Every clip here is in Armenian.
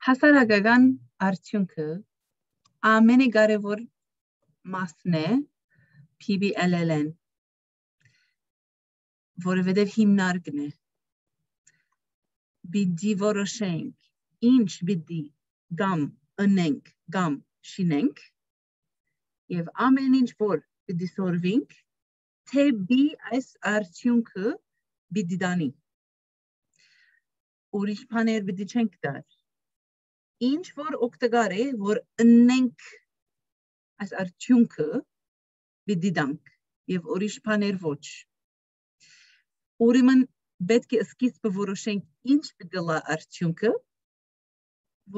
Հասարակական արդյունքը ամենակարևոր մասն է PBLL-ն, որովհետև հիմնարկն է։ Պիտի որոշենք ինչ պիտի կամ ընենք կամ շինենք եւ ամեն ինչ որ պիտի սորվենք թե բի այս արդյունքը պիտի դանի ուրիշ բաներ պիտի չենք դար ինչ որ օգտակար է որ ընենք այս արդյունքը պիտի դանք եւ ուրիշ բաներ ոչ ուրեմն պետք է սկիզբը որոշենք ինչ պիտի լա արդյունքը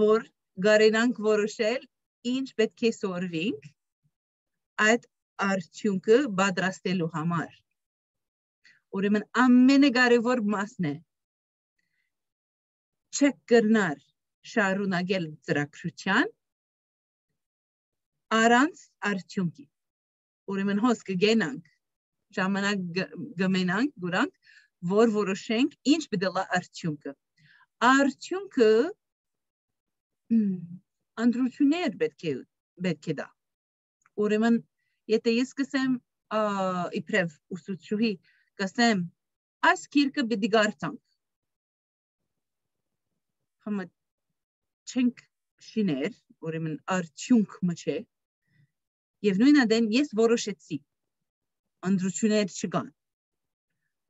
որ գարենանք որոշել ինչ պետք է սորվենք այդ արդյունքը պատրաստելու համար ուրեմն ամենակարևոր մասն է չեք կրնար շարունակել ծրագրության առանց արդյունքի ուրեմն հոս կգենանք ժամանակ գմենանք գուրանք որ որոշենք ինչ պիտի լա արդյունքը անդրություններ պետք է դա ուրեմն եթե ես կսեմ իբրև ուսուցչուհի կսեմ այս գիրքը պիտի կարդանք համա չենք շիներ ուրեմն արդյունք մը եւ նույն ադեն ես որոշեցի անդրություններ չկան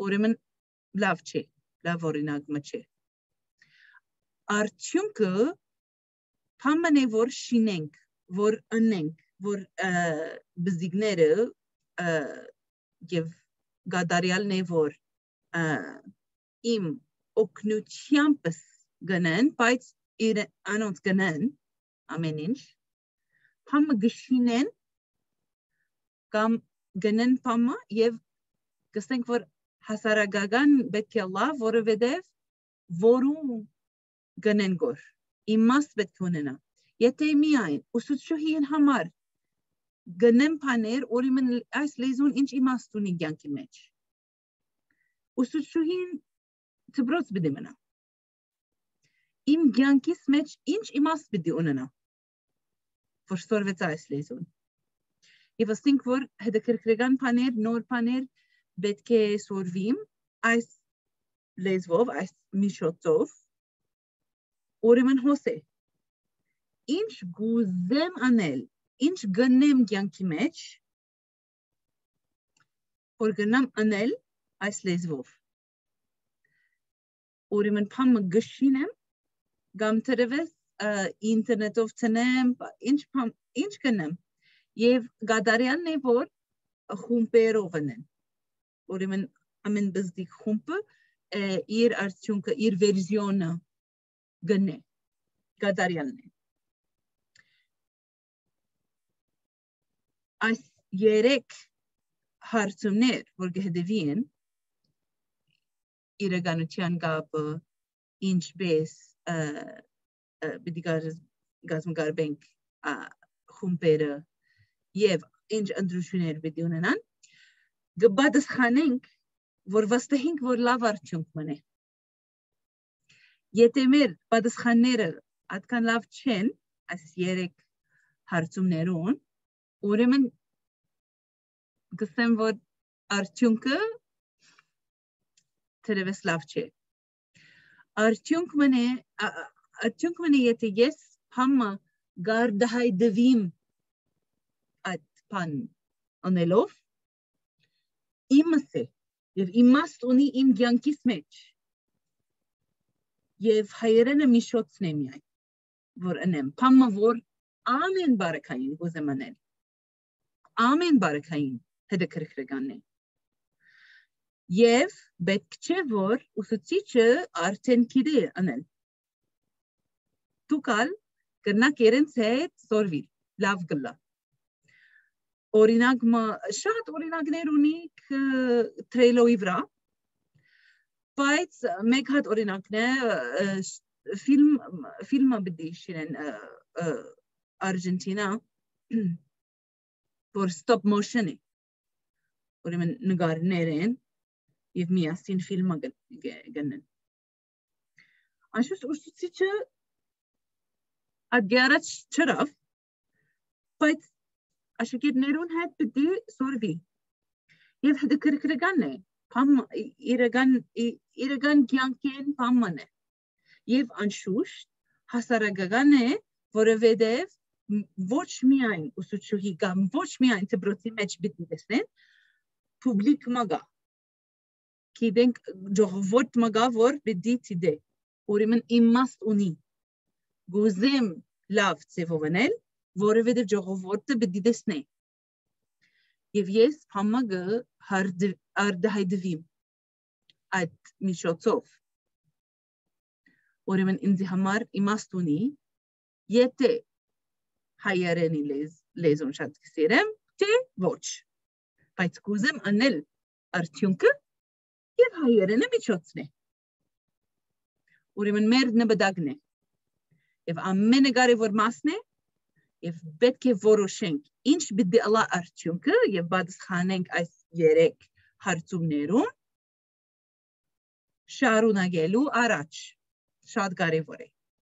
ուրեմն լավ չէ լավ օրինակ մը չէ արդյունքը բանն է որ շինենք որ ընենք որ բզիկները եւ գադարյալն է որ իմ օգնությամբ գնեն բայց անոնց գնեն ամեն ինչ համը գշինեն կամ գնեն փամը եւ կստենք որ հասարակական պետք է լա որովհետեւ որում գնեն գոր իմաստ պետք ունենա եթե միայն ուսուցչուհին համար գնեն բաներ ուրեմն այս լեզուն ինչ իմաստ ունի կյանքի մեջ ուսուցչուհին դպրոց պիտի մնա իմ կյանքիս մեջ ինչ իմաստ պիտի ունենա որ սորվեց այս լեզուն եւ ասենք որ հետաքրքրական բաներ նոր բաներ պետք է սորվիմ այս լեզվով այս միջոցով ուրեմն հոսե ինչ գուզեմ անել ինչ գնեմ կյանքի մեջ որ գնամ անել այս լեզվով ուրեմն փամը գշինեմ կամ թրևես ինտերնետով ցնեմ ինչ կնեմ եւ գադարյանն է որ խումբերով են ուրեմն ամեն բզդիկ խումբը իր արդյունքը իր վերզիոնը գնե գադարյանն է այս երեք հարցումներ որ գհդեվին իրականության կապը ինչպես պիտի գազմգարբենք խումբերը եւ ինչ ընդրություններ պիտի ունենան գբադսխանենք որ վստահենք որ լավ արդյունք մնե եթե մեր պատասխանները այդքան լավ չեն այս երեք հարցումներուն ուրեմն գսեմ որ արդյունքը թերևս լավ չէ արդյունք մնե եթե ես համը գարդահայդվիմ այդ բան անելով իմս է եւ իմաստ ունի իմ կյանքիս մեջ եւ հայերենը միջոցն է միայն որ անեմ փամը որ ամեն բարեկային ուզեմ անել ամեն բարեկային հետաքրքրական է եւ պետք չէ որ ուսուցիչը արդեն գիտի անել դուքալ կրնակ երենց հետ սորվիլ լավ գլա օրինակ շատ օրինակներ ունի տրեյլոյի վրա բայց մեկ հատ օրինակն է ֆիլմը բդի շիրեն Argentina որ stop motion է ուրեմն նկարներ են եւ միասին ֆիլմը գնեն անշուշտ ուսուցիչը Ադյարաչ չրավ, բայց աշակերտներուն հետ պիտի սորվի։ Եվ հետաքրքրական է, իրական կյանքեն բաման է։ Եվ անշուշտ հասարակական է, որովհետև ոչ միայն ուսուցչուհի կամ ոչ միայն դպրոցի մեջ պիտի տեսնեն, պուբլիկ մագա։ Գիտենք ժողովուրդ մագա, որ պիտի ցիդե, ուրեմն իմաստ ունի։ Գուզեմ լավ ձևովնել, որովհետև ժողովուրդը պիտի տեսնե։ Եվ ես համագը արդահայտվիմ այդ միջոցով։ Ուրեմն ինձ համար իմաստ ունի, եթե հայերենի լեզուն շատ կսիրեմ, թե ոչ։ Բայց կուզեմ անել արդյունքը և հայերենը միջոցն է։ Ուրեմն մեր նպատակն է։ Եվ ամենակարևոր մասն է, եւ պետք է որոշենք ինչ պիտի ըլա արդյունքը եւ պատասխանենք այս 3 հարցումներուն շարունակելու առաջ շատ կարեւոր է